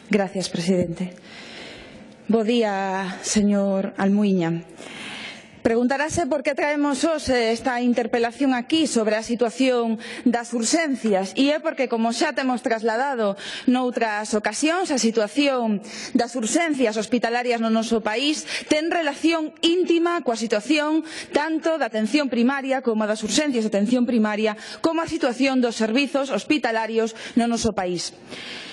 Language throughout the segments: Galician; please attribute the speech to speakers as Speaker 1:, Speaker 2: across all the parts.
Speaker 1: Gracias, presidente. Bo día, señor Almuíña. Preguntarase por que traemos hoxe esta interpelación aquí sobre a situación das urxencias e é porque, como xa temos trasladado noutras ocasións, a situación das urxencias hospitalarias no noso país ten relación íntima coa situación tanto da atención primaria como das urxencias de atención primaria como a situación dos servizos hospitalarios no noso país.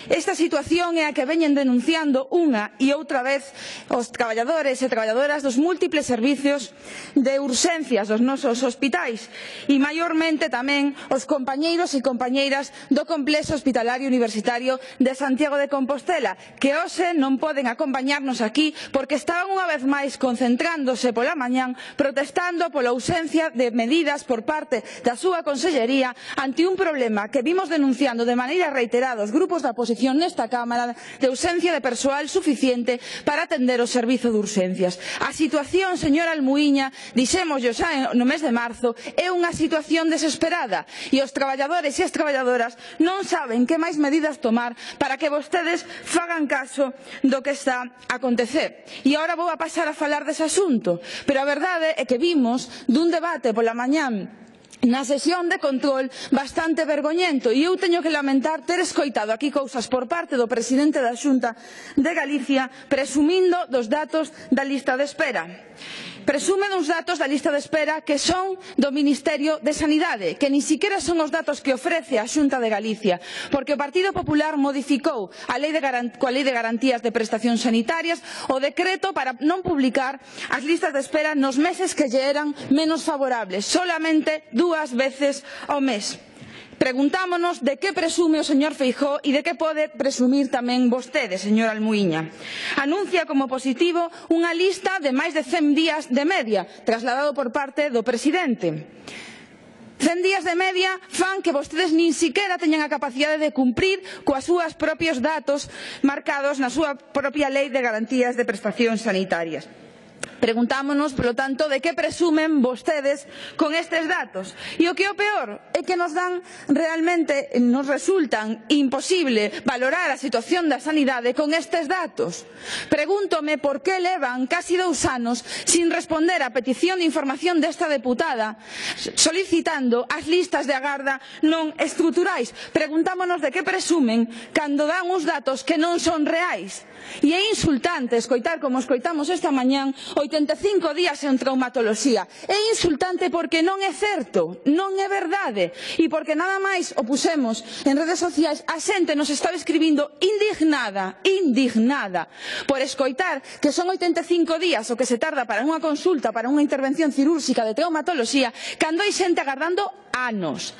Speaker 1: Esta situación é a que veñen denunciando unha e outra vez os traballadores e traballadoras dos múltiples servizos de urxencias dos nosos hospitais e maiormente tamén os compañeiros e compañeiras do complexo hospitalario universitario de Santiago de Compostela, que hoxe non poden acompañarnos aquí porque estaban unha vez máis concentrándose pola mañán protestando pola ausencia de medidas por parte da súa consellería ante un problema que vimos denunciando de maneira reiterada os grupos da oposición nesta Cámara de ausencia de persoal suficiente para atender o servizo de urxencias. A situación, señor Almuíña, dixémoslle xa no mes de marzo, é unha situación desesperada e os traballadores e as traballadoras non saben que máis medidas tomar para que vostedes fagan caso do que está a acontecer. E agora vou a pasar a falar dese asunto, pero a verdade é que vimos dun debate pola mañán na sesión de control bastante vergoñento e eu teño que lamentar ter escoitado aquí cousas por parte do presidente da Xunta de Galicia presumindo dos datos da lista de espera. Presume dos datos da lista de espera que son do Ministerio de Sanidade, que nin siquiera son os datos que ofrece a Xunta de Galicia, porque o Partido Popular modificou coa Lei de Garantías de Prestacións Sanitarias o decreto para non publicar as listas de espera nos meses que lle eran menos favorables, solamente 2 veces ao mes. Preguntámonos de que presume o señor Feijóo e de que pode presumir tamén vostede, señor Almuíña. Anuncia como positivo unha lista de máis de 100 días de media, trasladado por parte do presidente. 100 días de media fan que vostedes nin siquiera teñan a capacidade de cumprir coas súas propios datos marcados na súa propia Lei de Garantías de Prestacións Sanitarias. Preguntámonos, polo tanto, de que presumen vostedes con estes datos. E o que é o peor é que nos resultan imposible valorar a situación da sanidade con estes datos. Pregúntome por que levan casi 2 anos sin responder á petición de información desta deputada solicitando as listas de agarda non estruturais. Preguntámonos de que presumen cando dan uns datos que non son reais. E é insultante escoitar como escoitamos esta mañán 85 días en traumatoloxía. É insultante porque non é certo, non é verdade. E porque nada máis o pusemos en redes sociais, a xente nos estaba escribindo indignada por escoitar que son 85 días o que se tarda para unha consulta, para unha intervención cirúrxica de traumatoloxía, cando hai xente agardando anos,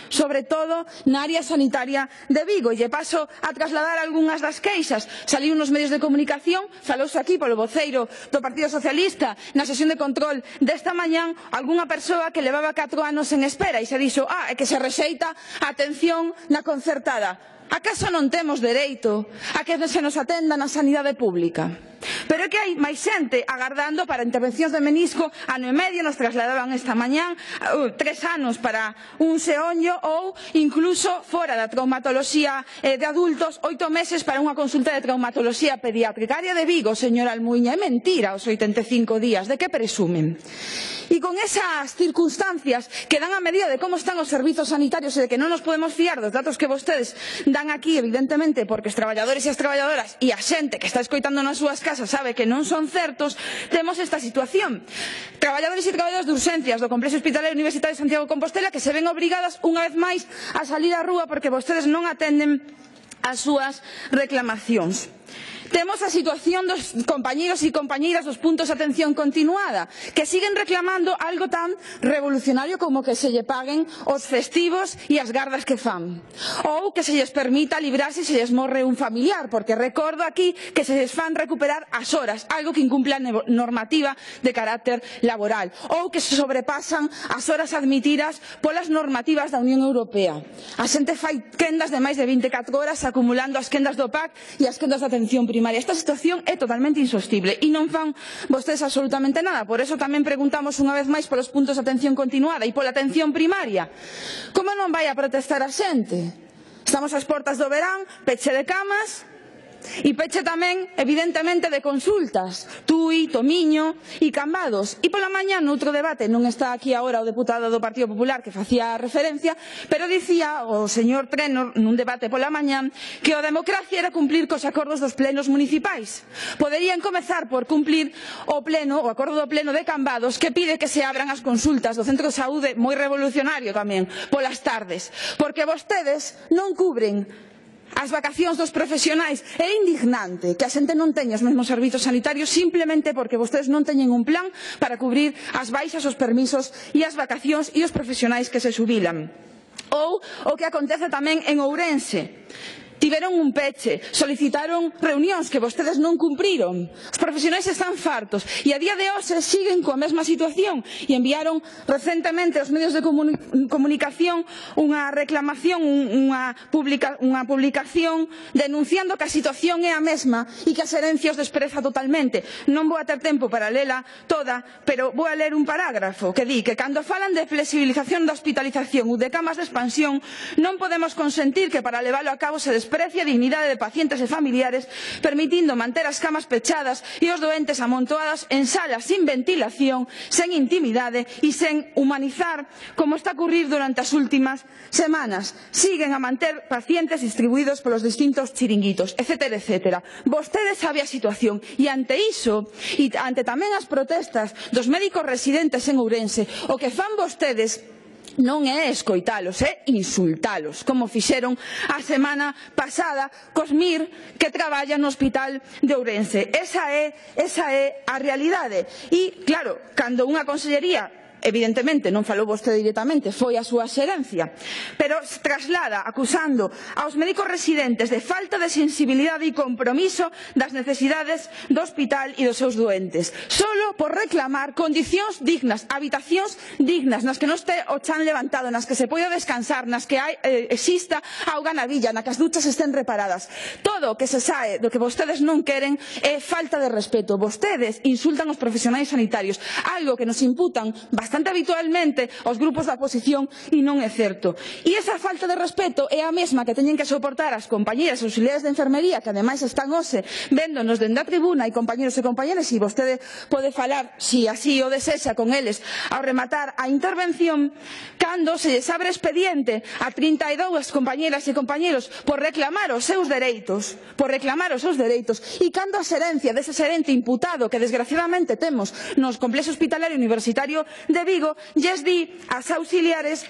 Speaker 1: sobre todo na área sanitaria de Vigo. E lle paso a trasladar algunhas das queixas. Saliu nos medios de comunicación, falouse aquí polo voceiro do Partido Socialista na sesión de control desta mañán, algunha persoa que levaba 4 anos en espera e se dixo, é que se rexeita a atención na concertada. Acaso non temos dereito a que se nos atenda na sanidade pública? Pero é que hai máis xente agardando para intervencións de menisco, ano e medio, nos trasladaban esta mañán, 3 anos para un xeonllo ou incluso fora da traumatoloxía de adultos, 8 meses para unha consulta de traumatoloxía pediátrica. Área de Vigo, señor Almuíña, é mentira os 85 días, de que presumen? E con esas circunstancias que dan a medida de como están os servizos sanitarios e de que non nos podemos fiar dos datos que vostedes dan aquí, evidentemente, porque os traballadores e as traballadoras e a xente que está escoitando nas súas casas sabe que non son certos, temos esta situación. Traballadores e traballadoras de urxencias do Complexo Hospitalario Universitario de Santiago de Compostela que se ven obrigadas unha vez máis a salir á rúa porque vostedes non atenden as súas reclamacións. Temos a situación dos compañeiros e compañeiras dos puntos de atención continuada, que siguen reclamando algo tan revolucionario como que se lle paguen os festivos e as gardas que fan, ou que se lles permita librarse se lles morre un familiar, porque recordo aquí que se lles fan recuperar as horas, algo que incumple a normativa de carácter laboral, ou que se sobrepasan as horas admitidas polas normativas da Unión Europea. A xente fai quendas de máis de 24 horas acumulando as quendas do PAC e as quendas de atención primaria. Esta situación é totalmente insostible e non fan vostedes absolutamente nada. Por eso tamén preguntamos unha vez máis polos puntos de atención continuada e pola atención primaria. Como non vai a protestar a xente? Estamos ás portas do verán, peche de camas, E peche tamén, evidentemente, de consultas. Tui, Tomiño e Cambados. E pola mañá, noutro debate, non está aquí agora o deputado do Partido Popular que facía referencia, pero dicía o señor Trenor nun debate pola mañá que a democracia era cumplir cos acordos dos plenos municipais. Poderían comezar por cumplir o acordo do pleno de Cambados que pide que se abran as consultas do centro de saúde, moi revolucionario tamén, polas tardes, porque vostedes non cubren as vacacións dos profesionais. É indignante que a xente non teña os mesmos servizos sanitarios simplemente porque vostedes non teñen un plan para cubrir as baixas, os permisos e as vacacións e os profesionais que se xubilan. Ou o que acontece tamén en Ourense. Tiveron un peche, solicitaron reunións que vostedes non cumpriron. Os profesionais están fartos e a día de hoxe siguen coa mesma situación e enviaron recentemente aos medios de comunicación unha reclamación, unha publicación denunciando que a situación é a mesma e que a xerencia os despreza totalmente. Non vou a ter tempo para lela toda, pero vou a ler un parágrafo que di que cando falan de flexibilización da hospitalización ou de camas de expansión non podemos consentir que para levalo a cabo se desprecie a dignidade de pacientes e familiares, permitindo manter as camas pechadas e os doentes amontoados en salas sin ventilación, sen intimidade e sen humanizar, como está a ocurrir durante as últimas semanas. Siguen a manter pacientes distribuídos polos distintos chiringuitos, etcétera, etcétera. Vostedes sabe a situación e ante iso, e ante tamén as protestas dos médicos residentes en Ourense, o que fan vostedes non é escoitalos, é insultalos, como fixeron a semana pasada cos MIR que traballan no Hospital de Ourense. Esa é a realidade. E, claro, cando unha consellería evidentemente non falou vostede directamente, foi a súa xerencia, pero traslada acusando aos médicos residentes de falta de sensibilidade e compromiso das necesidades do hospital e dos seus doentes, solo por reclamar condicións dignas, habitacións dignas, nas que non este o chan levantado, nas que se poida descansar, nas que exista auga na villa, nas que as duchas estén reparadas. Todo o que se sae do que vostedes non queren é falta de respeto. Vostedes insultan os profesionais sanitarios, algo que nos imputan bastante habitualmente aos grupos da oposición e non é certo. E esa falta de respeto é a mesma que teñen que soportar as compañeras auxiliares de enfermería que ademais están hoxe véndonos dende a tribuna e compañeros e compañeras e vostede pode falar, se así o desexa, con eles ao rematar a intervención cando se lles abre expediente a 32 compañeras e compañeros por reclamar os seus dereitos e cando a xerencia dese xerente imputado que desgraciadamente temos nos complexo hospitalario universitario de Vigo lles di ás auxiliares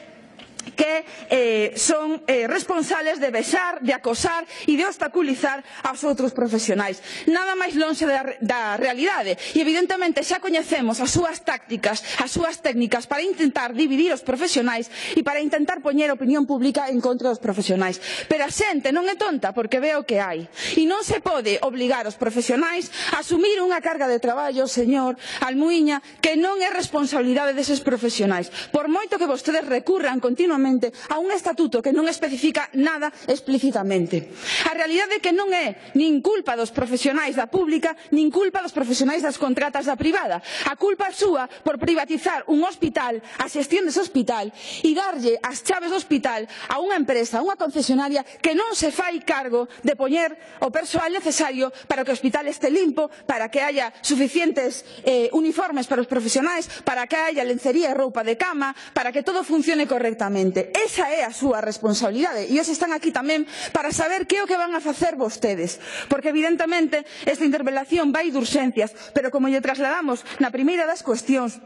Speaker 1: que son responsables de vexar, de acosar e de obstaculizar aos outros profesionais. Nada máis lonxe da realidade e evidentemente xa coñecemos as súas tácticas, as súas técnicas para intentar dividir os profesionais e para intentar poñer a opinión pública en contra dos profesionais. Pero a xente non é tonta porque ve o que hai e non se pode obligar os profesionais a asumir unha carga de traballo, señor Almuíña, que non é responsabilidade deses profesionais. Por moito que vostedes recurran continuamente a un estatuto que non especifica nada explícitamente. A realidade é que non é nin culpa dos profesionais da pública, nin culpa dos profesionais das contratas da privada. A culpa é súa por privatizar un hospital, a xestión dese hospital, e darlle as chaves do hospital a unha empresa, a unha concesionaria que non se fai cargo de poñer o persoal necesario para que o hospital este limpo, para que haya suficientes uniformes para os profesionais, para que haya lencería e roupa de cama, para que todo funcione correctamente. Esa é a súa responsabilidade e hoxe están aquí tamén para saber que é o que van a facer vostedes, porque evidentemente esta interpelación vai de urxencias, pero como lle trasladamos na primeira das cuestións,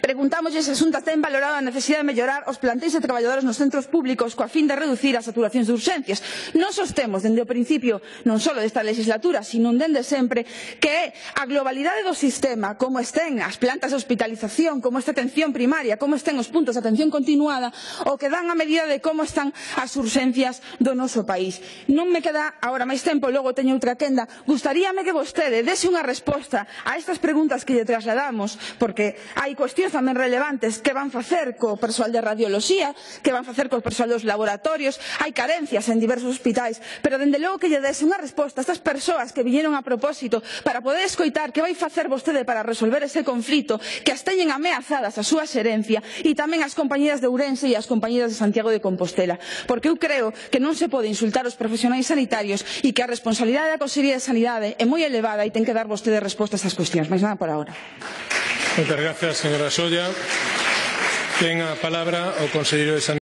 Speaker 1: preguntámoslle se a Xunta ten valorado a necesidade de mellorar os plantéis de traballadores nos centros públicos coa fin de reducir as saturacións de urxencias. Nos sostemos dende o principio non só desta legislatura, sino dende sempre, que é a globalidade do sistema, como estén as plantas de hospitalización, como esta atención primaria, como estén os puntos de atención continuada, o que dan a medida de como están as urxencias do noso país. Non me queda agora máis tempo, logo teño outra quenda. Gustaríame que vostede dese unha resposta a estas preguntas que lle trasladamos, porque hai hai cuestións tamén relevantes que van facer co persoal de radioloxía, que van facer co persoal dos laboratorios, hai carencias en diversos hospitais, pero dende logo que lle des unha resposta a estas persoas que viñeron a propósito para poder escoitar que vai facer vostede para resolver ese conflito, que as teñen ameazadas a súa xerencia e tamén as compañeras de Ourense e as compañeras de Santiago de Compostela, porque eu creo que non se pode insultar os profesionais sanitarios e que a responsabilidade da Consellería de Sanidade é moi elevada e ten que dar vostede resposta a estas cuestións. Mais nada por agora.
Speaker 2: Moitas gracias, señora Solla. Ten a palabra o conselleiro de Sanidade.